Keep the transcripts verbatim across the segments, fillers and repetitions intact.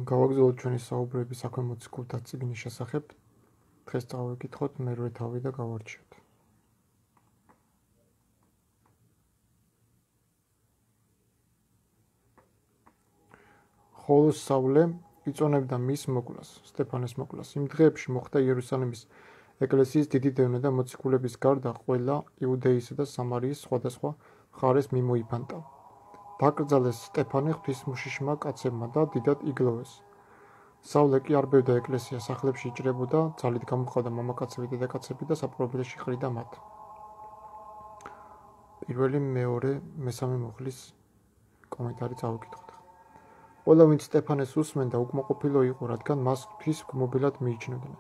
გავაგრძელოთ ჩვენი საუბრები საქმე მოციქულთა წიგნის შესახებ. დღეს წავიკითხოთ მერვე თავი და გავარჩიოთ. ხოლო საულე იწონებდა მის მოკვლას, სტეფანეს მოკვლას. იმ დღეებში მოხდა იერუსალიმის ეკლესიის დიდი დევნა და მოციქულების გარდა ყველა იუდეისა და სამარიის სხვადასხვა მხარეს მიმოიფანტა. დაკრძალეს სტეფანე ღვთისმშიშმა კაცებმა და დიდად იგლოვეს. საულე კი არბევდა ეკლესიას, სახლებში იჭრებოდა, ძალით გამოჰყავდა მამაკაცები, დედაკაცები და საპყრობილეში ყრიდა მათ. პირველი, მეორე, მესამე მუხლის კომენტარი წავიკითხოთ. ყველა ვინც სტეფანეს უსმენდა, უკმაყოფილო იყო, რადგან მას ღვთის გმობილად მიიჩნევდნენ.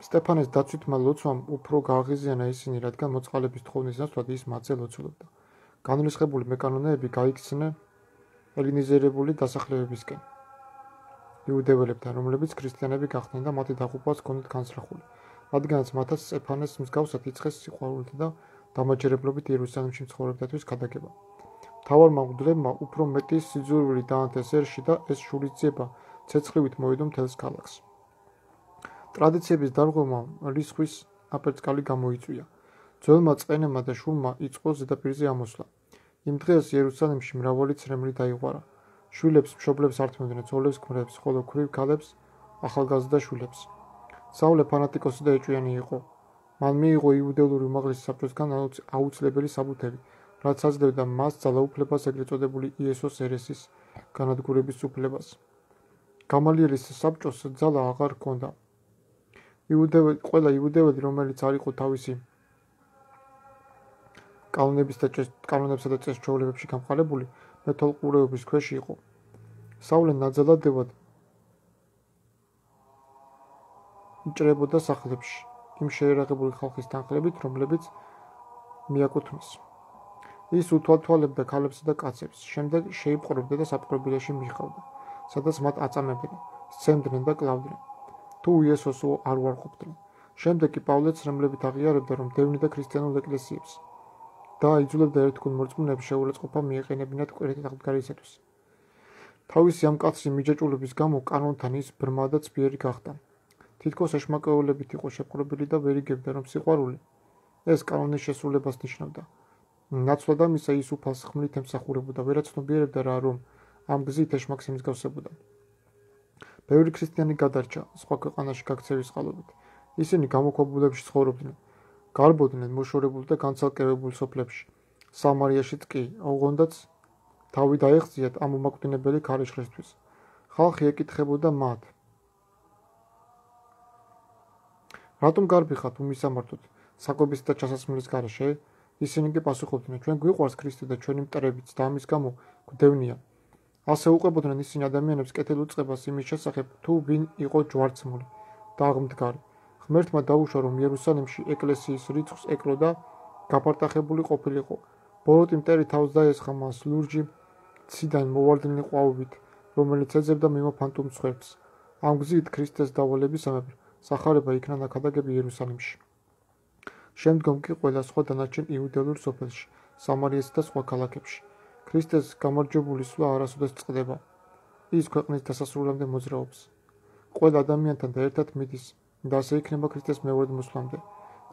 სტეფანეს დაცვითმა ლოცვამ უფრო გააღიზიანა ისინი, რადგან მოწყალების თხოვნის ნაცვლად ის მათზე ლოცულობდა. განრისხებული მეკანონეები გაიქცნენ ელინიზირებული დასახლებებისკენ იუდეველებთან, რომლებიც ქრისტიანები გახდნენ და მათი დაღუპვაც ჰქონდათ განსრახული, რადგანაც მათაც სტეფანეს მსგავსად იწყეს სიყვარულით და დამაჯერებლობით იერუსალიმში მცხოვრებდათვის ქადაგება. მთავარმა მღვდლებმა უფრო მეტი სიძულვილი დაანთეს ერში და ეს შურისძიება ცეცხლივით მოვიდო მთელს ქალაქს. ტრადიციების დარღვევმა რისხვის აპერწკალი გამოიწვია. ძველმა წყენებმა და შულმა იწყო ზედაპირზე ამოსვლა. იმ დღეს იერუსალიმში მრავალი ცრემლი დაიღვარა. შვილებს მშობლებს ართმევდნენ, ძოლებს ქმრებს, ხოლო ქვრივ ქალებს ახალგაზრდა შვილებს. საულე ფანატიკოსი და ეჭვიანი იყო. მან მიიღო იუდეური უმაღლესი საბჭოსგან აუცილებელი საბუთები, რაც აძლევდა მას ძალაუფლებას, ეგრეთ წოდებული იესოს ერესის განადგურების უფლებას. გამალიელის საბჭოს ძალა აღარ ჰქონდა. ყველა იუდეველი, რომელიც არ იყო თავისი კანონებსა და წესჩვეულებებში გამყარებული, მეთვალყურეობის ქვეშ იყო. საულე ნაძალადევად იჭრებოდა სახლებში, იმ შეერაღებული ხალხის თანხლებით, რომლებიც მიაკუთვნეს. ის უთვალთვალებდა ქალებსა და კაცებს, შემდეგ შეიპყრობდა და საპყრობილეში მიჰყავდა, სადაც მათ აწამებდნენ, სცემდნენ და კლავდნენ, თუ იესოს არ უარყოფდნენ. შემდეგ კი პავლე ცრემლებით აღიარებდა, რომ დევნიდა და ქრისტიანულ ეკლესიებს და იძულებდა ერთგულ მორწმუნეებს შეურაცხყოფა მიეყენებინათ კვირით აღდგარისათვის. თავისი ამ კაცრი მიჯაჭვულობის გამო კანონთან ის ბრმა და ცბიერი გახდა. თითქოს ეშმაკეულებით იყო შეპყრობილი და ვერ იგებდა, რომ სიყვარული ეს კანონის შესრულებას ნიშნავდა. ნაცვლად ამისა ის უფალს ხმლით ემსახურებოდა, ვერაც ცნობიერებდა რა, რომ ამ გზით ეშმაკს იმსგავსებოდა. ბევრი ქრისტიანი გადარჩა სხვა ქვეყანაში გაქცევის წყალობით. ისინი გამოქვაბულებში ცხოვრობდნენ, გარბოდნენ მოშორებულ და განცალკევებულ სოფლებში. სამარიაშიც კი ოღონდაც თავი დაეღწიათ ამ უმაკვდინებელი ქარიშხლისთვის. ხალხი ეკითხებოდა მათ: რატომ გარბიხათ უმისამართოდ საკვების და ჩასასმელის გარეშე? ისინი კი პასუხობდნენ: ჩვენ გვიყვარს ქრისტე და ჩვენი მტრებიც და ამის გამო გვდევნია. ასე უყვებოდნენ ისინი ადამიანებს კეთილ უწყებას იმის შესახებ, თუ ვინ იყო ჯვარცმული და აღმდგარი. ღმერთმა დაუშვა, რომ იერუსალიმში ეკლესიის რიცხვს ეკლო და გაპარტახებული ყოფილიყო. ბოროტი მტერი თავს დაესხა მას ლურჯი ციდან მოვარდნილი ყვავებით, რომელიც ეძებდა მიმოფანტულ მსხვერპლს. ამ გზით ქრისტეს დავალებისამებრ სახარება იქნა ნაქადაგები იერუსალიმში. შემდგომ კი ყველა სხვა დანარჩენ იუდეურ სოფელში, სამარიასა და სხვა ქალაქებში. ქრისტეს გამარჯვებული სვლა არასოდეს წყდება. ის ქვეყნის დასასრულამდე მოძრაობს. ყველა ადამიანთან და ერთად მიდის და ასე იქნება ქრისტეს მეორედ მოსვლამდე.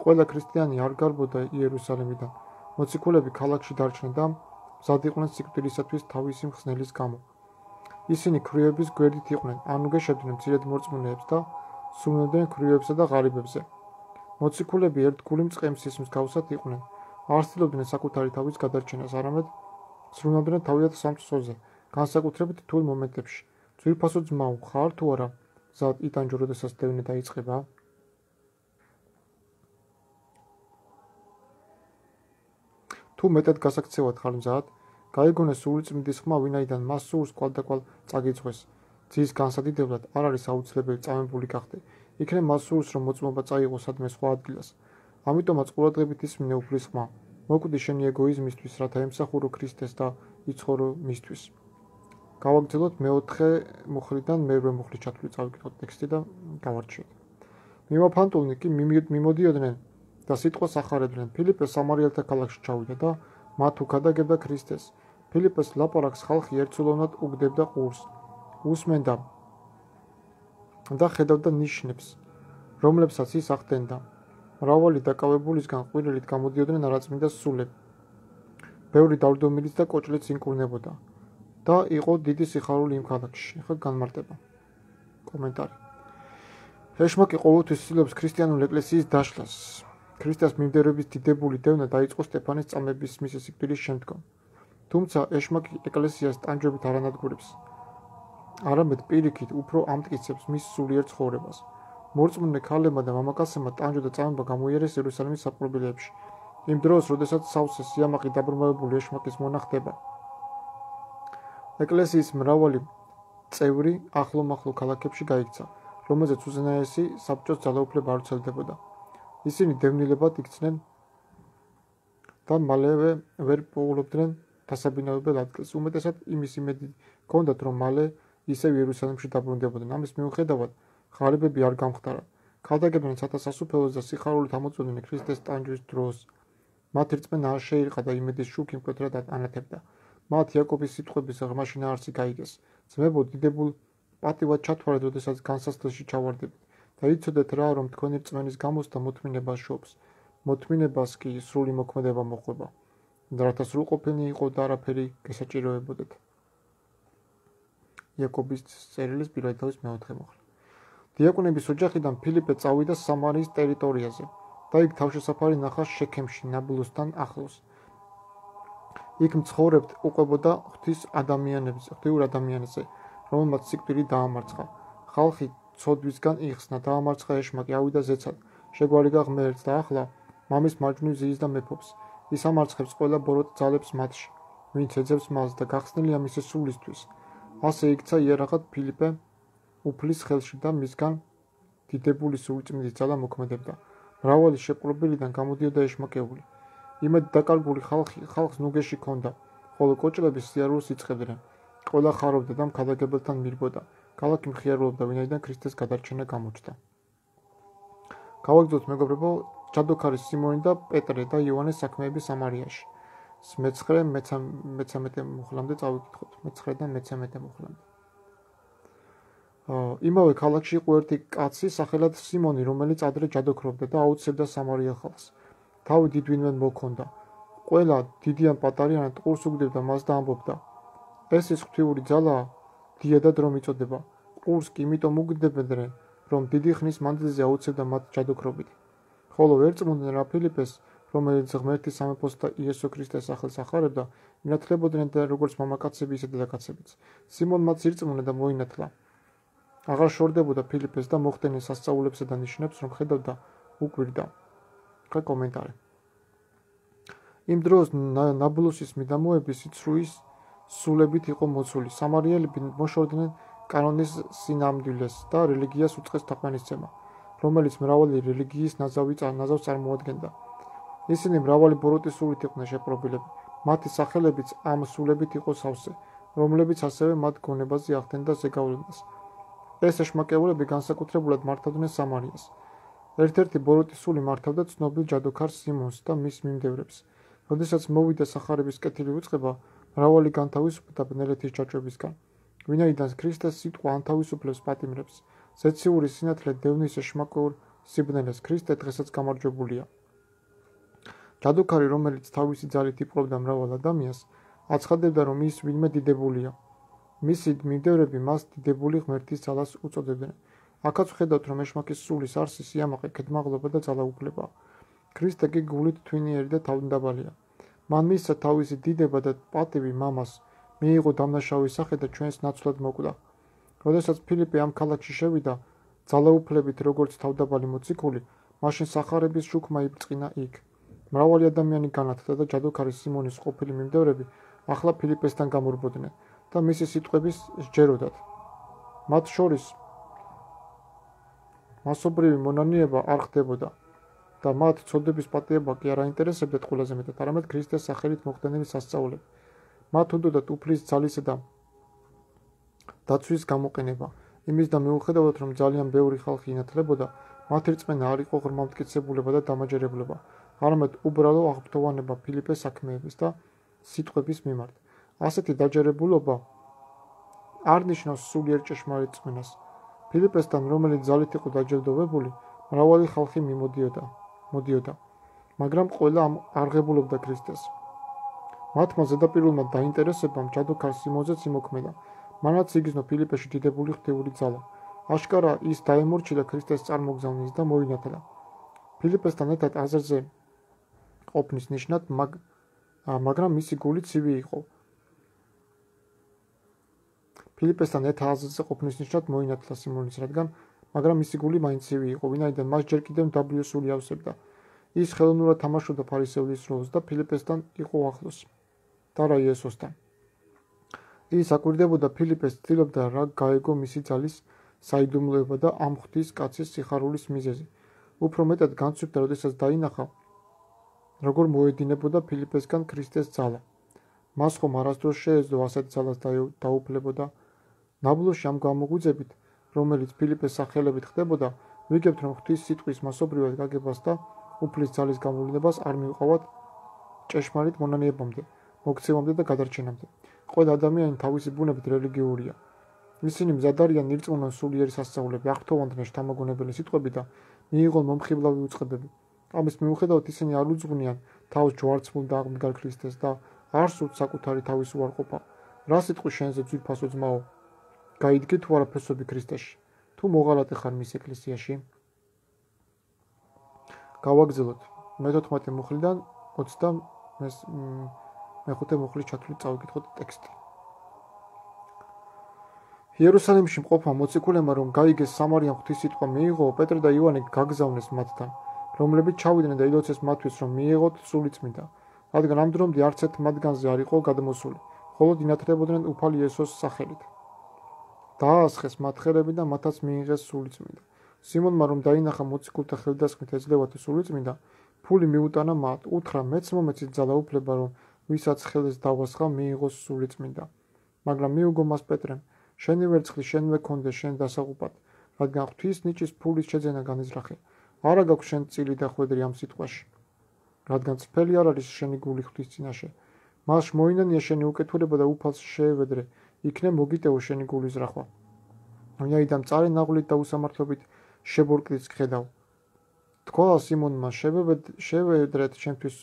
ყველა ქრისტიანი არ გარბოდა იერუსალიმიდან. მოციქულები ქალაქში დარჩნენ და მზად იყვნენ სიკვდილისათვის თავისი მხსნელის გამო. ისინი ქვრივების გვერდით იყვნენ, ანუ გეშებდნენ მცირედ მორწმუნეებს და სუნოდნენ ქვრივებსა და ღარიბებზე. მოციქულები ერთგული მწყემსის მსგავსად იყვნენ, არ ცდილობდნენ საკუთარი თავის გადარჩენას, არამედ ზრუნავდნენ თავიანთ სამწყსოზე, განსაკუთრებით რთულ მომენტებში. ძვირფასო ძმაო, ხარ თუ არა მზად იტანჯო, როდესაც დევნა დაიწყება? თუ მეტად გასაქცევად ხარ მზად, გაიგონე სული წმინდის ხმა, ვინაიდან მას სურს კვალდაკვალ წაგიწვეს. ძის განსადიდებლად არ არის აუცილებელი წამებული გახდე. იქნებ მას სურს, რომ მოწმობა წაიღო სადმე სხვა ადგილას. ამიტომაც ყურადღებით ისმინე უფლის ხმა. მოკვდი შენი ეგოიზმისთვის, რათა ემსახურო ქრისტეს და იცხოვრო მისთვის. გავაგრძელოთ მეოთხე მუხლიდან მერვე მუხლის ჩათვლით, წავიკითხოთ ტექსტი და გავარჩიოთ. მიმოფანტულნი კი მიმოდიოდნენ და სიტყვას ახარებდნენ. ფილიპე სამარიელთა ქალაქში ჩავიდა და მათ უქადაგებდა ქრისტეს. ფილიპეს ლაპარაკს ხალხი ერთსულოვნად უგდებდა ყურს. უსმენდა და ხედავდა ნიშნებს, რომლებსაც ის ახდენდა. მრავალი დაკავებულისგან ყვირილით გამოდიოდნენ არაწმინდა სულები. ბევრი დავრდომილიც და კოჭლიც ინკურნებოდა და იყო დიდი სიხარული იმ ქალაქში. ხო განმარტება. კომენტარი. ეშმაკი ყოველთვის ცდილობს ქრისტიანული ეკლესიის დაშლას. ქრისტეს მიმდევრების დიდებული დევნა დაიწყო სტეფანეს წამების მისი სიკვდილის შემდგომ. თუმცა ეშმაკი ეკლესიას ტანჯვებით არ ანადგურებს, არამედ პირიქით უფრო ამტკიცებს მის სულიერ ცხოვრებას. მორწმუნე ქალებმა და მამაკაცებმა ტანჯვა და წამება გამოიარეს იერუსალიმის საპყრობილეებში. იმ დროს, როდესაც სავსე სიამაყე დაბრმავებული ეშმაკის მონა ხდება. ეკლესიის მრავალი წევრი ახლო-მახლო ქალაქებში გაიქცა, რომელზეც უზენაესი საბჭოს ძალაუფლება არ ვრცელდებოდა. ისინი დევნილებად იქცნენ და მალევე ვერ პოულობდნენ დასაბინავებელ ადგილს. უმეტესად იმის იმედი ჰქონდათ, რომ მალე ისევ იერუსალიმში დაბრუნდებოდნენ. ამის მიუხედავად, ღარიბები არ გამხდარა. ქადაგებდნენ სათასასუფეველს და სიხარულით ამოწმდნენ ქრისტეს ტანჯვის დროს. მათ რწმენა არ შეირყა და იმედის შუქი მკვეთრად ანათებდა. მათ იაკობის სიტყვების ღრმაში ნაარსი გაიგეს. ძმებო, დიდებულ პატივად ჩათვალეთ, როდესაც განსასწრებში ჩავარდებით და იცოდეთ რა, რომ თქვენი რწმენის გამოსთა მოთმინება შობს. მოთმინებას კი სრული მოქმედება მოყვება. რათა სრულყოფილნი იყო და არაფერი გესაჭიროებოდეთ. იაკობის წერილის პირველი თავის მეოთხე მოხლა. დიაკვნების ოჯახიდან ფილიპე წავიდა სამარიის ტერიტორიაზე და იქ თავშესაფარი ნახა შექემში, ნაბლუსთან ახლოს. იქ მცხოვრებთ უყვებოდა ღვთის ადამიანებს, ღვთიურ ადამიანებზე, რომელმაც სიკვდილი დაამარცხა. ხალხი ცოდვისგან იხსნა, დაამარცხა ეშმაკი, ავიდა ზეცად, შეგვარიგა ღმერთს და ახლა მამის მარჯვნივ ზიის და მეფობს. ის ამარცხებს ყველა ბოროტ ძალებს მათში, ვინც ეძებს მას და გახსნილია მისი სულისთვის. ასე იქცა იარაღად ფილიპე უფლის ხელში და მისგან დიდებული სულწმიდის ძალა მოქმედებდა. მრავალი შეპყრობილიდან გამოდიოდა ეშმაკეული. იმედ დაკარგული ხალხი ხალხს ნუგეში ჰქონდა, ხოლო კოჭლები სიარულს იწყებდნენ. ყველა ხარობდა და მქადაგებელთან მირბოდა. ქალაქი მხიარულობდა, ვინაიდან ქრისტეს გადარჩენა გამოჩნდა. გავაგრძელოთ მეგობრებო, ჯადოქარი სიმონი და პეტრე და იოანეს საქმეები სამარიაში. მეცხრე მეცამეტე მუხლამდე წავიკითხოთ. მეცხრე და მეცამეტე მუხლამდე. იმავე ქალაქში იყო ერთი კაცი სახელად სიმონი, რომელიც ადრე ჯადოქრობდა და აუცებდა სამარიელ ხალხს. თავი დიდვინმე მოქონდა. ყველა დიდი ან პატარიანი ტყურს უგდებდა მას და ამბობდა: ეს ის ღვთიური ძალაა, დიადად რომ იწოდება. ყურს კი იმიტომ უგდებდნენ, რომ დიდი ხნის მანძილზე აუცებდა მათ ჯადოქრობით. ხოლო ერწმუნდნენ რა ფილიპეს, რომელიც ღმერთის სამეფოს და იესო ქრისტეს სახელს ახარებდა, ინათლებოდნენ და როგორც მამაკაცები, ისე დედაკაცებიც. სიმონმაც ირწმუნა და მოინათლა. აღარ შორდებოდა ფილიპეს და მოხდენენ სასწაულებსა და ნიშნებს, რომ ხედავდა, უკვირდა. ხა კომენტარი. იმ დროს ნაბლუსის მიდამოები სიცრუის სულებით იყო მოცული. სამარიელები მოშორდნენ კანონის სინამდვილეს და რელიგიას უწყეს თაყვანისცემა, რომელიც მრავალი რელიგიის ნაზავს წარმოადგენდა. ისინი მრავალი ბოროტის სულით იყვნენ შეპყრობილები. მათი სახელებიც ამ სულებით იყო სავსე, რომლებიც ასევე მათ გონებაზე ახდენდა ზეგავლენას. ეს ეშმაკეულები განსაკუთრებულად მართავდნენ სამარიას. ერთ-ერთი ბოროტის სული მართავდა ცნობილ ჯადოქარ სიმონს და მის მიმდევრებს. როდესაც მოვიდა სახარების კეთილი უწყება, მრავალი განთავისუფლდა ბნელეთის ჯაჭვებისგან. ვინაიდან ქრისტეს სიტყვა ანთავისუფლებს პატიმრებს, ზეციური სინათლე დევნის ეშმაკეულ სიბნელეს, ქრისტე დღესაც გამარჯვებულია. ჯადოქარი, რომელიც თავისი ძალით იპყრობდა მრავალ ადამიანს, აცხადებდა, რომ ის ვინმე დიდებულია. მისი მიმდევრები მას დიდებული ღმერთის ძალას უწოდებდნენ. აქაც ვხედავთ, რომ ეშმაკის სულის არსი სიამაყე, ქედმაღლობა და ძალაუფლებაა. ქრისტე კი გულით თვინიერი და თავმდაბალია. მან მისცა თავისი დიდება და პატივი მამას, მიიღო დამნაშავის სახე და ჩვენს ნაცვლად მოკვდა. როდესაც ფილიპე ამ ქალაქში შევიდა, ძალაუფლებით როგორც თავდაბალი მოციქული, მაშინ სახარების შუქმა იბწყინა იქ. მრავალი ადამიანი განათლდა და ჯადოქარი სიმონის ყოფილი მიმდევრები ახლა ფილიპესთან გამორბოდნენ და მისი სიტყვების სჯეროდათ. მათ შორის მასობრივი მონანიება არ ხდებოდა და მათ ცოდების პატიება კი არ აინტერესებდათ ყველაზე მეტად, არამედ ქრისტეს სახელით მოხდენილი სასწაულები. მათ უნდათ უფლის ძალისა და დაცვის გამოყენება. იმის და მიუხედავად, რომ ძალიან ბევრი ხალხი ინათლებოდა, მათი რწმენა არ იყო ღრმამტკიცებულება და დამაჯერებლობა, არამედ უბრალო აღფრთოვანება ფილიპეს საქმეების და სიტყვების მიმართ. ასეთი დაჯერებულობა არ ნიშნავს სულიერ ჭეშმარიტ წმენას. ფილიპესთან, რომელიც ძალით იყო დაჯილდოვებული, მრავალი ხალხი მიმოდიოდა, მოდიოდა, მაგრამ ყველა არღებულობდა ქრისტეს. მათმა ზედაპირულმა დაინტერესებამ ჯადოქარ სიმონზეც იმოქმედა, მანაც იგრძნო ფილიპეში დიდებული ღვთიური ძალა. აშკარა ის დაემორჩილა ქრისტეს წარმოგზავნის და მოინათლა. ფილიპესთან ერთად აზერზე ყოფნის ნიშნად, მაგ, მაგრამ მისი გული ცივი იყო. ფილიპესთან ერთად აზერზე ყოფნის ნიშნად მოინათლა სიმონის, რადგან მაგრამ მისი გული მაინც ცივი იყო, ვინაიდან მას ჯერ კიდევ მდაბლიო სული ავსებდა. ის ხელოვნურად თამაშობდა ფარისეულის როლს და ფილიპესთან იყო ახლოს და რა იესოსთან. ის აკვირდებოდა ფილიპეს, ცდილობდა რა გაეგო მისი ძალის საიდუმლოება და ამ ღვთის კაცის სიხარულის მიზეზი. უფრო მეტად განცვიფდა, როდესაც დაინახა, როგორ მოედინებოდა ფილიპესგან ქრისტეს ძალა. მას ხომ არასდროს შეეძლო ასეთ ძალას დაუფლებოდა. ნაბლოში ამ გამოგვიძებით, რომელიც ფილიპეს სახელებით ხდებოდა, ვიგებთ, რომ ღვთის სიტყვის მასობრივად გაგებას და უფლის ძალის გამოვლინებას არ მიუყავად ჭეშმარიტ მონანიებამდე, მოქცევამდე და გადარჩენამდე. ყველა ადამიანი თავისი ბუნებით რელიგიურია. ისინი მზად არიან ირწმუნონ სულიერი სასწაულები, აღთოვანდნენ შთამაგონებელი სიტყვები და მიიღონ მომხიბლავი უწყებები. ამის მიუხედავად ისინი არ უძღვნიან თავს ჯვარცმულ და აღმდგარ ქრისტეს და არ სურთ საკუთარი თავის უარყოფა. რა სიტყვის შენზე ძვირფასო ძმაო? გაიდგე თუ არა ფესვები ქრისტეში? თუ მოღალატე ხარ მის ეკლესიაში? გავაგზავნოთ მეთოთხმეტე მუხლიდან ოცდამეხუთე მუხლის ჩათვლით წავიკითხოთ ტექსტი. იერუსალიმში მყოფმა მოციქულებმა რომ გაიგეს სამარიამ ღვთის სიტყვა მიიღო, პეტრე და იოანე გაგზავნეს მათთან, რომლებიც ჩავიდნენ და ილოცეს მათთვის, რომ მიიღოთ სული წმინდა, რადგან ამ დრომდე არც ერთ მათგანზე არ იყო გადმოსული, მხოლოდ ინათლებოდნენ უფალი იესოს სახელით. დაასხეს მათ ხელები და მათაც მიიღეს სული წმინდა. სიმონმა რომ დაინახა მოციქულთა ხელდასხმით ეძლევათ სული წმინდა, ფული მიუტანა მათ, უთხრა მეც მომეცით ძალაუფლება, რომ ვისაც ხელს დავასხა მიიღოს სული წმინდა. მაგრამ მიუგო მას პეტრემ, შენი ვერცხლი შენვე კონდეს შენ დასაღუპად, რადგან ღვთის ნიჭის ფულის შეძენა განიზრახე. არა გაქვს შენ წილი და ხვედრი ამ სიტყვაში, რადგან წფელი არ არის შენი გული ღვთის წინაშე. მას მოინანია შენი უკეთურება და უფალს შეევედრე, იქნებ მოგიტევო შენი გულის რახვა. ვინაიდან მწარე ნაღვლით და უსამართლობით შებორკდიც გხედავ. თქვა სიმონმა, შევედრეთ ჩემთვის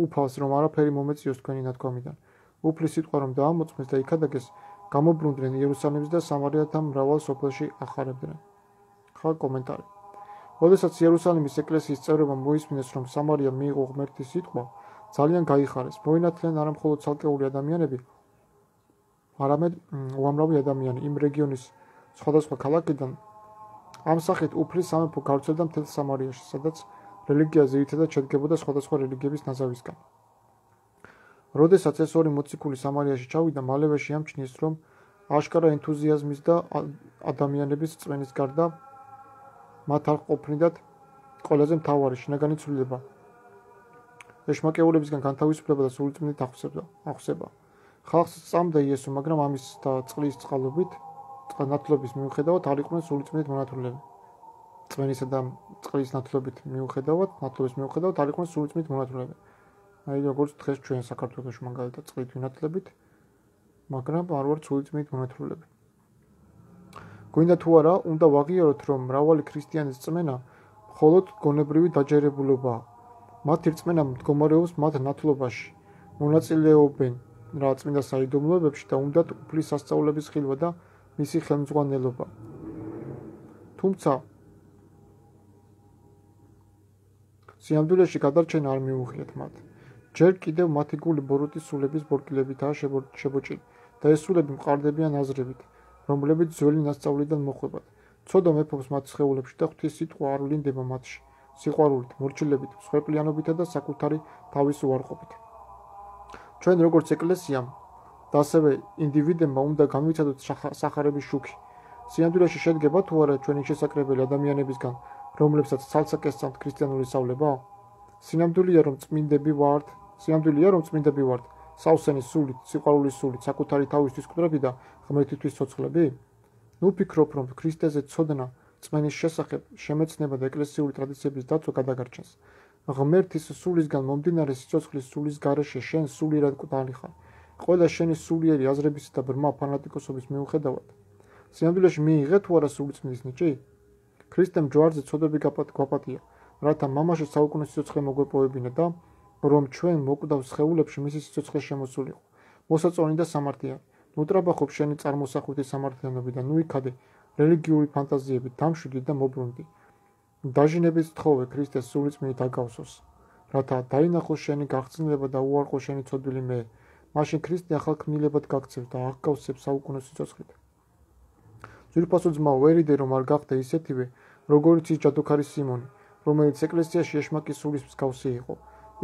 უფალს, რომ არაფერი მომეციოს თქვენი ნათქვამიდან. უფლის სიტყვა რომ დაამოწმეს და იქადაგეს, გამობრუნდნენ იერუსალიმს და სამარიათა მრავალ სოფელში ახარებდნენ. ხა კომენტარი. როდესაც იერუსალიმის ეკლესიის წევრებმა მოისმინეს, რომ სამარია მიიღო ღმერთის სიტყვა, ძალიან გაიხარეს. მოინათლნენ არა მხოლოდ ცალკეული ადამიანები, არამედ უამრავი ადამიანი იმ რეგიონის სხვადასხვა ქალაქიდან. ამ სახით უფლის სამეფო გავრცელდა მთელ სამარიაში, სადაც რელიგია ძირითადად შედგებოდა სხვადასხვა რელიგიების ნაზავისგან. როდესაც ეს ორი მოციქული სამარიაში ჩავიდა, მალევე შეამჩნიეს, რომ აშკარა ენთუზიაზმის და ადამიანების წმენის გარდა მათ არ ყოფნიდათ ყველაზე მთავარი შინაგანი ცვლილება, ეშმაკეულებისგან განთავისუფლება და სულიწმინდით აღხვსება. ხალხს სწამდა იესო, მაგრამ ამის და წყლის წყალობით, ნათლობის მიუხედავად არ იყვნენ სულიწმინდით მონათლულები. წმენისა და წყლის ნათლობით მიუხედავად, ნათლობის მიუხედავად არ იყვნენ სულიწმინდით მონათლულები. აი როგორც დღეს ჩვენ საქართველოში მაგალითად წყლით ვინათლებით, მაგრამ არ ვართ სულიწმინდით მონათლულები. გვინდა თუ არა, უნდა ვაღიაროთ, რომ მრავალი ქრისტიანის წმენა მხოლოდ გონებრივი დაჯერებულობაა. მათი რწმენა მდგომარეობს მათ ნათლობაში, მონაწილეობენ რა წმინდა საიდუმლოებებში და უნდათ უფლის სასწაულების ხილვა და მისი ხელმძღვანელობა. თუმცა სიამდვილეში გადარჩენა არ მიუღიათ მათ. ჯერ კიდევ მათი გული ბოროტის სულების ბორკილებითაა შებოჭილი და ეს სულები მყარდებიან აზრებით, რომლებიც ძველი ნასწავლიდან მოხვებათ. ცოდვა მეფობს მათ სხეულებში და ღვთის სიტყვა არ ვლინდება მათში, სიყვარულით, მორჩილებით, მსხვერპლიანობითა და საკუთარი თავის უარყოფით. ჩვენ როგორც ეკლესიამ და ასევე ინდივიდებმა უნდა განვიცადოთ სახარების შუქი. სიამდვილეში შედგება თუ არა ჩვენი შესაკრებელი ადამიანებისგან, რომლებსაც ცალსაკ ესწამთ ქრისტიანული სწავლება? სინამდვილეა რომ წმინდები ვართ, სინამდვილეა რომ წმინდები ვართ, სავსენის სულით, სიყვარულის სულით, საკუთარი თავისთვის გვდრები და ღმერთისთვის ცოცხლები? ნუ ფიქრობ, რომ ქრისტეზე ცოდნა წმენის შესახებ შემეცნება და ეკლესიური ტრადიციების დაცვა გადაგარჩენს. ღმერთის სულისგან მომდინარე სიცოცხლის სულის გარეშე შენ სულიერად კვდალი ხარ. ყველა შენი სულიერი აზრების და ბრმა ფანატიკოსობის მიუხედავად, სინამდვილეში მიიღე თუ არა სულიწმიდის ნიჭი? ქრისტემ ჯვარზე ცოდები გვაპატია, რათა მამაში საუკუნის სიცოცხლე მოგვეპოვებინა და რომ ჩვენ მოკვდავ სხეულებში მისი სიცოცხლე შემოსულიყო. მოსაწონი და სამართლიანი, ნუტრაბახობ შენი წარმოსახვითი სამართლიანობიდან, ნუ იქადე რელიგიური ფანტაზიებით დამშვიდი და მობრუნდი. დაჟინების თხოვე ქრისტეს სულიწმიდით აგავსოს, რათა დაინახოს შენი გაღწნილება და უარყო შენი ცოდვილი მე, მაშინ ქრისტე ახალ ქმნილებად გაქცევს და აღგავსებს საუკუნოს სიცოცხლით. ძვირფასო ძმაო, ვერიდე რომ არ გახდე ისეთივე, როგორიც ის ჯადოქარი სიმონი, რომელიც ეკლესიაში ეშმაკის სულის მსგავსი იყო.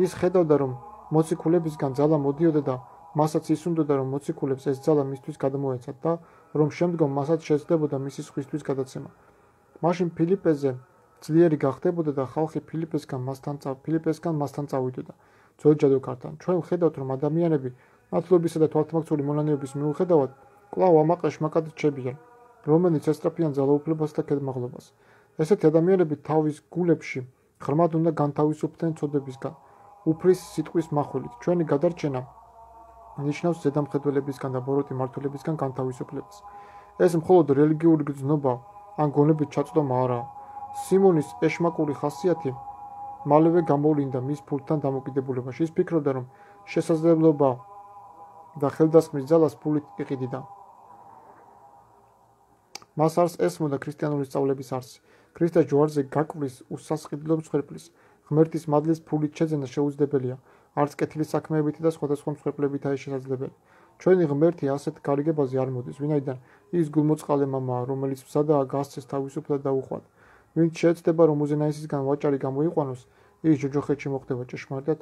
ის ხედავდა, რომ მოციქულებისგან ძალა მოდიოდა და მასაც ისუნდოდა, რომ მოციქულებს ეს ძალა მისთვის გადმოეცათ და რომ შემდგომ მასაც შეძლებოდა მისი სხვისთვის გადაცემა. მაშინ ფილიპეზე ძლიერი გახდებოდა და ხალხი ფილიპესგან მასთან ფილიპესგან მასთან წავიდოდა. ძველ ჯადოქართან. ჩვენ ვხედავთ, რომ ადამიანები მართლობისა და თვალთმაქცეული მონანიების მიუხედავად კვლავ ამაყ ეშმაკად რჩებიან, რომელიც ესწრაფიან ძალაუფლებას და ქედმაღლობას. ესეთი ადამიანები თავის გულებში ღრმად უნდა განთავისუფლდნენ ცოდებისგან, უფლის სიტყვის מחვილით. ჩვენი გადარჩენა ნიშნავს ზედამხედველებისგან და ბოროტი მმართველებისგან განთავისუფლებას. ეს მხოლოდ რელიგიური გრძნობა ან გონებით ჩაწვდომა არაა. სიმონის ეშმაკური ხასიათი მალევე გამოვლინდა მის ფულთან დამოკიდებულებაში. ის ფიქრობდა, რომ შესაძლებლობა და ხელდასხმის ძალას ფულით იყიდიდა. მას არს ესმოდა ქრისტიანული სწავლების არსი. ქრისტეს ჯვარზე გაკვრის უსასყიდლო მსხვერპლის, ღმერთის მადლის ფულით შეძენა შეუძლებელია, არც კეთილი საქმეებითი და სხვადასხვა მსხვერპლებითაა შესაძლებელი. ჩვენი ღმერთი ასეთ გარიგებაზე არ მოდის, ვინაიდან ის გულმოწყალე მამაა, რომელიც მზადაა გასცეს თავისუფლად და უხვად. ვინც შეეცდება, რომ უზენაესისგან ვაჭარი გამოიყვანოს, ის ჯოჯოხეთში მოხდება ჭეშმარიტად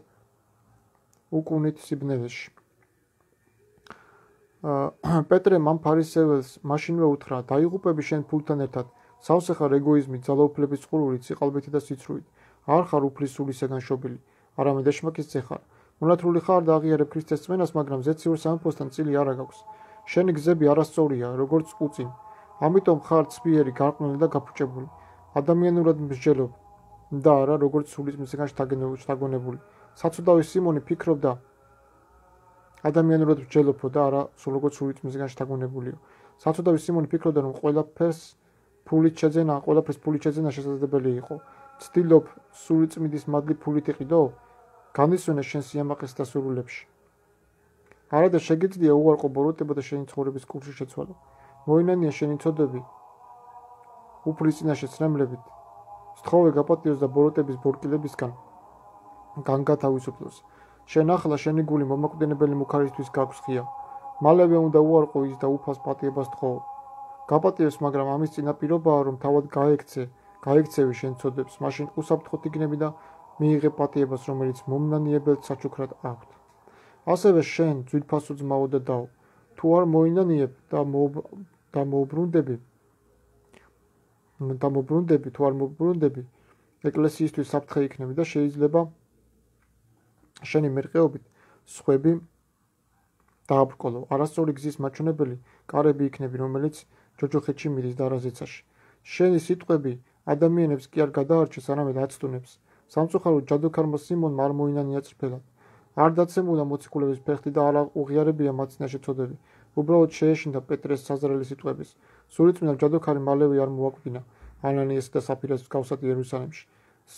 უკუნით სიბნელეში. პეტრე მან ფარისეველს მაშინვე უთხრა, დაიღუპები შენ ფულთან ერთად, სავსე ხარ ეგოიზმით, ძალაუფლების წყურვით, სიყალბით და სიცრუით. არ ხარ უფლის სულისაგან შობილი, არამედ ეშმაკის ძე ხარ. მონათრული ხარ და აღიარებ ქრისტეს წმენას, მაგრამ ზეციურ სამეფოსთან წილი არ აგაქვს. შენი გზები არასწორია, როგორც უწინ. ამიტომ ხარ ცბიერი, გარყვნილი და გაფუჭებული. ადამიანურად მსჯელობ და არა როგორც სულიწმიდისგან შთაგონებული. საცუდავი სიმონი ფიქრობდა ადამიანურად მსჯელობო და არა როგორც სულიწმიდისგან შთაგონებულიო. საცუდავი სიმონი ფიქრობდა, რომ ყველაფერს ფულით შეძენა, ყველაფერს ფულით შეძენა შესაძლებელი იყო. ცდილობ სულიწმიდის მადლი ფულით იყიდო? განისვენე შენ სიამაყეს და სურვილებში. არა და შეგიძლია უარყო ბოროტება და შენი ცხოვრების კურსში შეცვალო. მოინანია შენი ცოდები უფლის წინაშე ცრემლებით. სთხოვე გაპატიოს და ბოროტების ბორკილებისგან განგათავისუფლოს. შენ ახლა შენი გული მომაკვდინებელი მუქარისთვის გაქვს ღია. მალევე უნდა უარყო ის და უფალს პატიებას თხოვო. გაპატიოს, მაგრამ ამის წინაპირობაა, რომ თავად გაექცე, გაექცევი შენ ცოდებს, მაშინ უსაფრთხოდ იქნები და მიიღე პატიებას, რომელიც მომნანიებელთ საჩუქრად აქვთ. ასევე შენ, ძვირფასო ძმაო და დაო, თუ არ მოინანიებ და და მოუბრუნდები, და მოუბრუნდები, თუ არ მოუბრუნდები, ეკლესიისთვის საფრთხე იქნები და შეიძლება შენი მერყეობით სხვები დააბრკოლო. არასწორი გზის მაჩვენებელი კარები იქნები, რომელიც ჯოჯოხეთში მიდის და არა ზეცაში. შენი სიტყვები ადამიანებს კი არ გადაარჩეს, არამედ აცტუნებს. სამწუხაროდ ჯადოქარმა სიმონმა არ მოინანია წრფელად. არ დაცემულა მოციქულების ფეხი და არ უღიარებია მათ წინაშე ცოდები. უბრალოდ შეეშინდა პეტრეს საზრელი სიტყვების. სულიწმიდა ჯადოქარი მალევე არ მოაკვდინა ანანიასა და საფირას მსგავსად იერუსალიმში.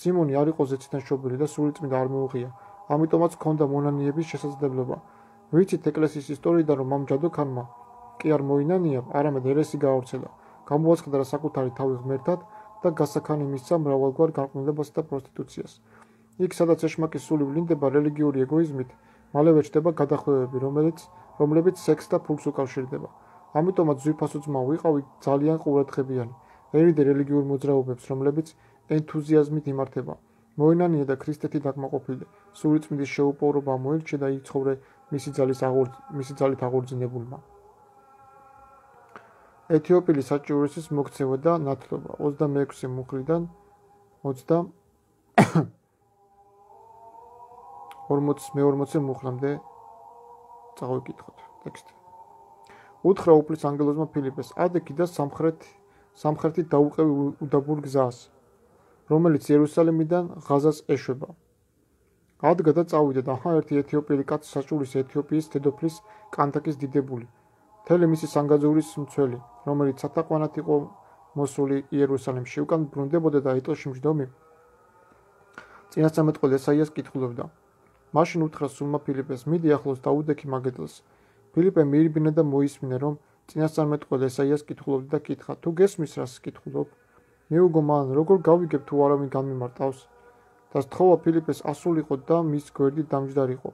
სიმონი არ იყო ზეციდან შობილი და სულიწმიდა არ მოუღია. ამიტომაც ჰქონდა მონანიების შესაძლებლობა. ვიცით ეკლესიის ისტორიიდან, რომ ამ ჯადოქარმა კი არ მოინანია, არამედ ერესი გაავრცელა. გამოაცხადდა საკუთარი თავი ღმერთად და გასაქანი მისცა მრავალგვარ განყნულებასა და პროსტიტუციას. იქ, სადაც ეშმაკის სული ვლინდება რელიგიური ეგოიზმით, მალევე ჩდება გადახვევები, რომელიც რომლებიც სექსს და ფულს უკავშირდება. ამიტომაც ძვირფასო ძმაო, ვიყავი ძალიან ყურადღებიანი. ერიდე რელიგიურ მოძრაობებს, რომლებიც ენთუზიაზმით იმართება. მოინანია და ქრისტეთი დაკმაყოფილდე. სულიწმიდის შეუპოვრობა მოირჩე და იცხოვრე მისი ძალის მისი ძალით აღორძინებულმა. ეთიოპილის საჭიურესის მოქცევა და ნათლობა ოცდამეექვსე მუხლიდან ორმოცი მუხლამდე წავიკითხოთ ტექსტი. უთხრა უფლის ანგელოზმა ფილიპეს, ადექი და სამხრეთ სამხრეთით დაუყევი უდაბურ გზას, რომელიც იერუსალიმიდან ღაზას ეშვება. ადგა და წავიდა და აჰა ერთი ეთიოპიელი კაცი საჭურის ეთიოპიის დედოფლის კანთაკის დიდებული, მთელი მისი სანგაძურის მცველი, რომელიც სათაყვანად იყო მოსული იერუსალიმში, უკან ბრუნდებოდა და ეტლში მჯდომი წინასწარმეტყველი ესაიას კითხულობდა. მაშინ უთხრა სულმა ფილიპეს, მიდი ახლოს დაუდექი მაგედელს. ფილიპე მიირბინა და მოისმინა, რომ წინასწარმეტყველი ესაიას კითხულობდა და კითხა, თუ გესმის რას კითხულობ? მიუგო მან, როგორ გავიგებ თუ არავინ განმიმარტავს? და სთხოვა ფილიპეს ასულიყო და მის გვერდით დამჯდარიყო.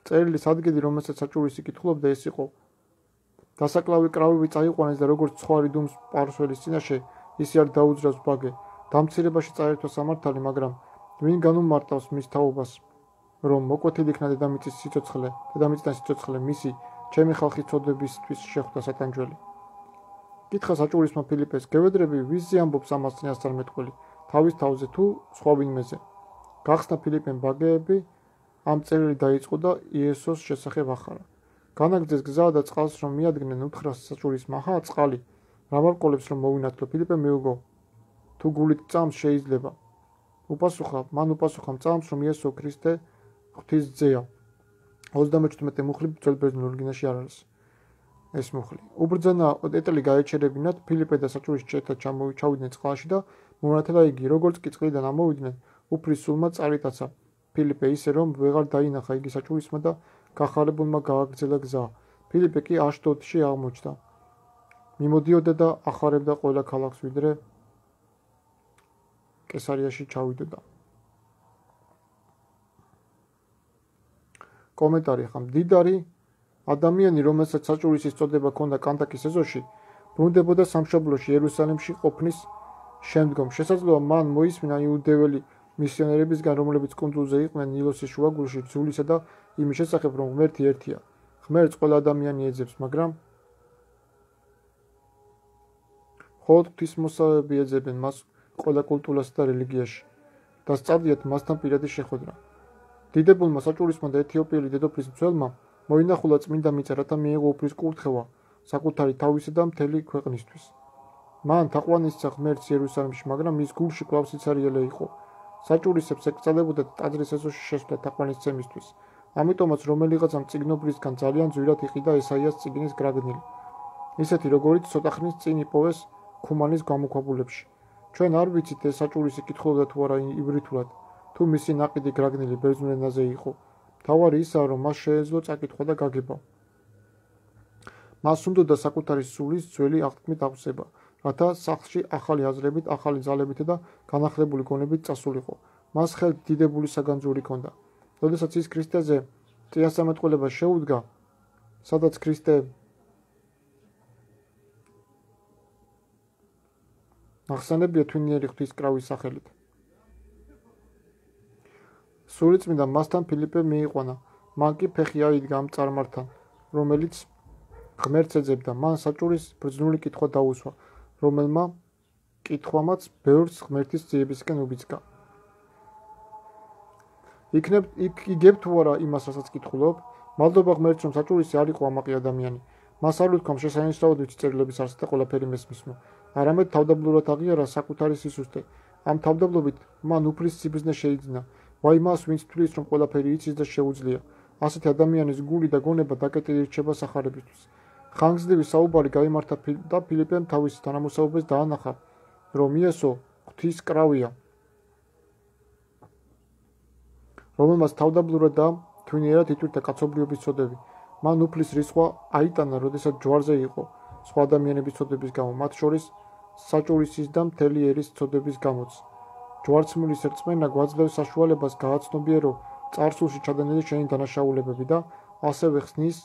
წერილის ადგილი, რომელსაც საჭურისი კითხულობდა, ეს იყო. დასაკლავი კრავები წაიყვანეს და როგორც ცხვარი დუმს პარსველის წინაშე, ისე არ დაუძრავს ბაგე. დამცირებაში წაერთვა სამართალი, მაგრამ ვინ განუმარტავს მის თაობას, რომ მოკვეთილი იქნა დედამიწის სიცოცხლე, დედამიწიდან სიცოცხლე მისი, ჩემი ხალხის წოდებისთვის შეხვდა სატანჯველი. კითხა საჭურისმა ფილიპეს, გევედრები, ვიზზე ამბობს ამას წინასწარმეტყველი, თავის თავზე თუ სხვა ვინმეზე. გახსნა ფილიპემ ბაგეები, ამ წერილი დაიწყო და იესოს შესახებ ახარა. განაგრძეს გზა და წყალს რომ მიადგნენ, უთხრა საჭურისმა, აჰა, წყალი, რა მარყოლებს რომ მოვინათლო? ფილიპე მიუგო, თუ გულით წამს შეიძლება. უპასუხა, მან უპასუხა მწამს, რომ იესო ქრისტე ღვთის ძეა. ოცდამეჩვიდმეტე მუხლი ძველ ბერძნულ ორიგინალში არ არის ეს მუხლი. უბრძანა ეტელი გაეჩერებინათ, ფილიპე და საჭურის ერთად ჩავიდნენ წყალში და მონათლა იგი, როგორც კი წყლიდან ამოვიდნენ, უფლის სულმა წარიტაცა ფილიპე ისე, რომ ვეღარ დაინახა იგი საჭურისმა და გახარებულმა გააგრძელა გზა. ფილიპე კი აშდოდში აღმოჩნდა. მიმოდიოდა და ახარებდა ყველა ქალაქს, ვიდრე კესარიაში ჩავიდოდა. კომენტარი ხა მდიდარი ადამიანი, რომელსაც საჭურისის წოდება ჰქონდა კანთაკის ეზოში, ბრუნდებოდა სამშობლოში იერუსალიმში ყოფნის შემდგომ. შესაძლოა მან მოისმინა იუდეველი მისიონერებისგან, რომლებიც კუნძულზე იყვნენ ნილოსის შუაგულში, ძულისა და იმის შესახებ, რომ ღმერთი ერთია. ღმერთს ყველა ადამიანი ეძებს, მაგრამ მხოლოდ ღვთისმოსავები ეძებენ მას ყველა კულტურასა და რელიგიაში და სწადიათ მასთან პირადი შეხვედრა. დიდებულმა საჭურისმა და ეთიოპიელი დედოფლის მცველმა მოინახულა წმინდა მიწა, რათა მიეღო უფლის კურთხევა საკუთარი თავისა და მთელი ქვეყნისთვის. მან თაყვანისცა ღმერთს იერუსალიმში, მაგრამ მის გულში კვლავ სიცარიელე იყო. საჭურისებს ეკწალებოდა ტაძრის ეზოში შესვლა თაყვანისცემისთვის. ამიტომაც რომელიღაცამ წიგნობრისგან ძალიან ძვირად იყიდა ესაიას წიგნის გრაგნილი, ისეთი როგორიც ცოტა ხნის წინ იპოვეს ქუმანის გამოქვაბულებში. ჩვენ არ ვიცით ეს საჭურისი კითხულობდა თუ არა ივრითულად, თუ მისი ნაყიდი გრაგნილი ბერძნულ ენაზე იყო. მთავარი ისაა, რომ მას შეეძლო წაკითხვა და გაგება. მას უნდოდა საკუთარი სულის ძველი აღთქმით აღზება, რათა სახლში ახალი აზრებით, ახალი ძალებით და განახლებული გონებით წასულიყო. მას ხელთ დიდებული საგანძური ჰქონდა. როდესაც ის ქრისტეზე წინასწარმეტყველებას შეუდგა, სადაც ქრისტე ახსენებია თვინიერი ღვთის კრავის სახელით. სულიწმიდა მასთან ფილიპე მიიყვანა, მან კი ფეხი აიდგა ამ წარმართან, რომელიც ღმერთს ეძებდა. მან საჭურის ბრძნული კითხვა დაუსვა, რომელმა კითხვამაც ბევრს ღმერთის ძიებისკენ უბიძგა. იქნებ იგებ თუ არა იმას, რასაც კითხულობ? მადლობა ღმერთს, რომ საჭურისი არ იყო ამაყი ადამიანი. მას არ უთქვამ შესანიშნავად ვიცი წერილების არსად და ყველაფერი მესმისმო. არამედ თავდაბლურად აღიარა საკუთარი სისუსტე. ამ თავდაბლობით მან უფლის სიბრძნე შეიძინა. ვაი მას, ვინც თვლის, რომ ყველაფერი იცის და შეუძლია. ასეთი ადამიანის გული და გონება დაკეტილი რჩება სახარებისთვის. ხანგრძლივი საუბარი გაიმართა და ფილიპემ თავის თანამოსაუბეს დაანახა, რომ იესო ღვთის კრავია, რომელმაც თავდაბლურად და თვინიერად იტვირთა კაცობრიობის ცოდები. მან უფლის რისხვა აიტანა, როდესაც ჯვარზე იყო, სხვა ადამიანების ცოდების გამო, მათ შორის საჭურისის და მთელი ერის ცოდების გამოც. ჯვარცმულის რწმენა გვაძლევს საშუალებას გააცნობიერო წარსულში ჩადენილი შენი დანაშაულებები და ასევე ხსნის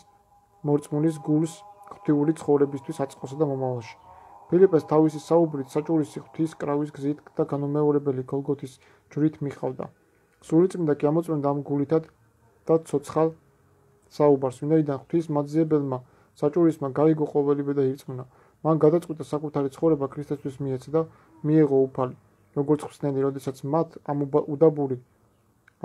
მორწმუნის გულს ღვთიური ცხოვრებისთვის აწყოსა და მომავალში. ფილიპეს თავისი საუბრით საჭურისი ღვთის კრავის გზით და განუმეორებელი გოლგოთის ჯვრით მიხავდა. სულიწმინდა კი ამოწმენდა ამ გულითად და ცოცხალ საუბარს, ვინაიდან ღვთის მაძიებელმა საჭურისმა გაიგო ყოველივე და ირწმუნა. მან გადაწყვიტა საკუთარი ცხოვრება ქრისტესთვის მიეცა და მიეღო უფალი, როგორც ხსნელი, როდესაც მათ ამ უდაბური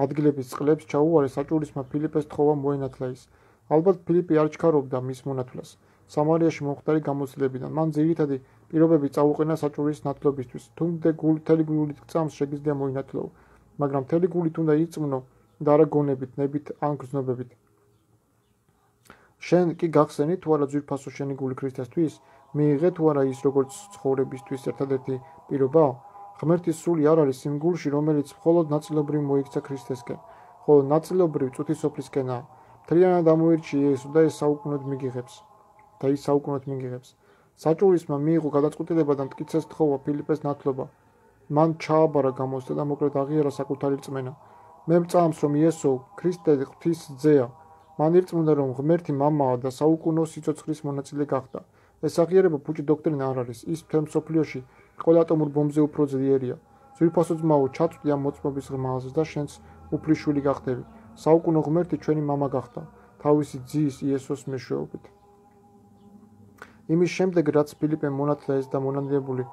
ადგილების წყლებს ჩაუარეს, საჭურისმა ფილიპეს თხოვა მოენათლა ის. ალბათ ფილიპი არ ჩქარობდა მის მონათვლას. სამარიაში მომხდარი გამოცდილებიდან მან ძირითადი პირობები წაუყენა საჭურის ნათლობისთვის. თუმდე გული მთელი გულით წამს შეგიძლია მოინათლო, მაგრამ მთელი გულით უნდა ირწმუნო და არა გონებით, ნებით ან გრძნობებით. შენ კი გახსენი თუ არა ძვირფასო შენი გული ქრისტესთვის, მიიღე თუ არა ის როგორც ცხოვრებისთვის ერთადერთი პირობა? ღმერთის სული არ არის იმ გულში, რომელიც მხოლოდ ნაწილობრივ მოიქცა ქრისტესკენ, ხოლო ნაწილობრივ წუთისოფლისკენაა. მთლიანად ამოირჩი იესო და ეს საუკუნოდ მიგიღებს. და ის საუკუნოდ მიგიღებს. საჭურისმა მიიღო გადაწყვეტილება და მტკიცეს თხოვა ფილიპეს ნათლობა. მან ჩააბარა გამოსდა და მოკლედ აღიარა საკუთარი რწმენა. მე მწამს, რომ იესო ქრისტე ღვთის ძეა. მან ირწმუნა, რომ ღმერთი მამაა და საუკუნო სიცოცხლის მონაწილე გახდა. ეს აღიარება ფუჭი დოქტრინა არ არის. ის მთელ მსოფლიოში ყველა ატომურ ბომბზე უფრო ძლიერია. ძვირფასო ძმაო, ჩაწვდი ამ მოწმობის ღმალს და შენც უფლიშვილი გახდები. საუკუნო ღმერთი ჩვენი მამა გახდა, თავისი ძის იესოს მეშვეობით. იმის შემდეგ, რაც ფილიპემ მონათლა ეს და მონანიებული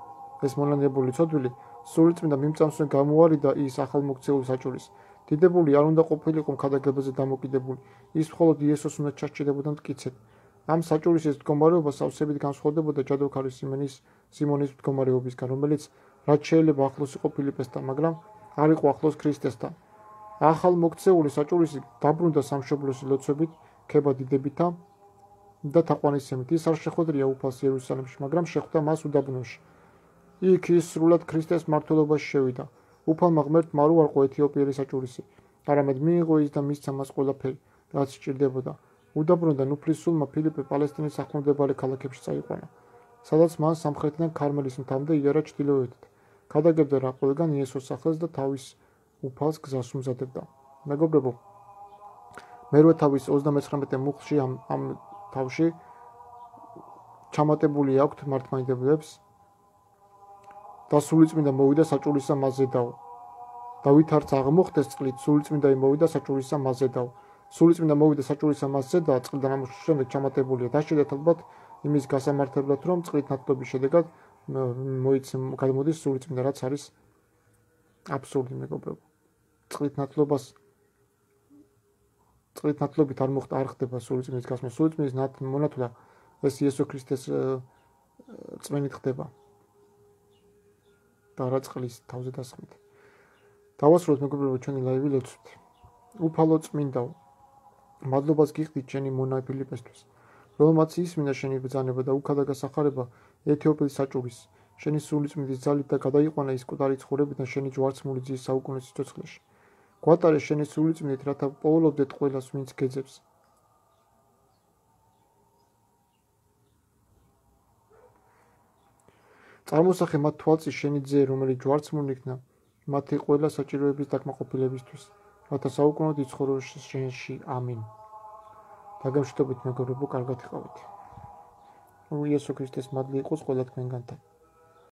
ეს მონანიებული ცოდვილი, სულიწმინდა მიმწამსვე გამოუარიდა ის ახალმოქცეულ საჭურის. დიდებული არ უნდა ყოფილიყო მქადაგებაზე დამოკიდებული, ის მხოლოდ იესოს უნდა ჩასჭირდებოდა მტკიცედ. ამ საჭურის ეს მდგომარეობა სავსებით განსხვავდებოდა ჯადოქარი სიმონის სიმონის მდგომარეობისგან, რომელიც რაც შეიძლება ახლოს იყო ფილიპესთან, მაგრამ არ იყო ახლოს ქრისტესთან. ახალმოქცეული საჭურისი დაბრუნდა სამშობლოსი ლოცვებით, ქება დიდებითა და თაყვანისცემით. ის არ შეხვედრია უფალს იერუსალიმში, მაგრამ შეხვდა მას უდაბნოში. იქ ის სრულად ქრისტეს მმართველობაში შევიდა. უფალმა ღმერთმა არ უარყო ეთიოპიელი საჭურისი, არამედ მიიღო ის და მისცა მას ყველაფერი, რაც სჭირდებოდა. უდაბნოდან უფლისულმა ფილიპე პალესტინის ახლომდებარე ქალაქებში წაიყვანა, სადაც მან სამხრეთიდან ქარმელის მთამდე იარა ჩრდილოეთით. გადაგებდა რა ყველგან იესოს სახელს და თავის უფალს გზას უმზადებდა. მეგობრებო, მერვე თავის ოცდამეცხრამეტე მუხლში ამ ამ თავში ჩამატებული აქვთ მართლმადიდებლებს და სულიწმინდა მოვიდა საჭურისა მასზედაო. დავით არც აღმოხდეს წყლით, სულიწმინდა მოვიდა საჭურისა მასზედაო. სულიწმინდა მოვიდა საჭურისა მასზედა, წყლიდან ამოშვის შემდეგ ჩამატებულია. დაშვიდეთ ალბათ იმის გასამართებლად, რომ წყლით ნათლობის შედეგად გამოდის სულიწმინდა, რაც არის აბსურდი, მეგობრებო. წყლით ნათლობას წყლით ნათლობით არ მოხდა არ ხდება სულიწმინდის გასმა. სულიწმინდის მონათლა ეს იესო ქრისტეს წმენით ხდება. და რა წყლის თავზე დასხმით. დავასრულოთ მეგობრებო ჩვენი ლაივი ლოცვით. უფალო წმინდაო, მადლობას გიხდით შენი მონა ფილიპესთვის, რომელმაც ისმინა შენი ბრძანება და უქადა გასახარება ეთიოპიის საჭურის, შენი სულიწმინდის ძალით და გადაიყვანა ის კუტარი ცხოვრებიდან შენი ჯვარცმული ძის საუკუნო სიცოცხლეში. გვატარე შენი სულიწმინდით, რათა პოულობდეთ ყველას, ვინც გეძებს. წარმოსახე მათ თვალწინ შენი ძე, რომელიც ჯვარცმული იქნა მათი ყველა საჭიროების დაკმაყოფილებისთვის, რათა საუკუნოდ იცხოვრო შენში. ამინ. დაგემშვიდობით მეგობრებო, კარგად იყავით. იესო ქრისტეს მადლი იყოს ყველა თქვენგანთან.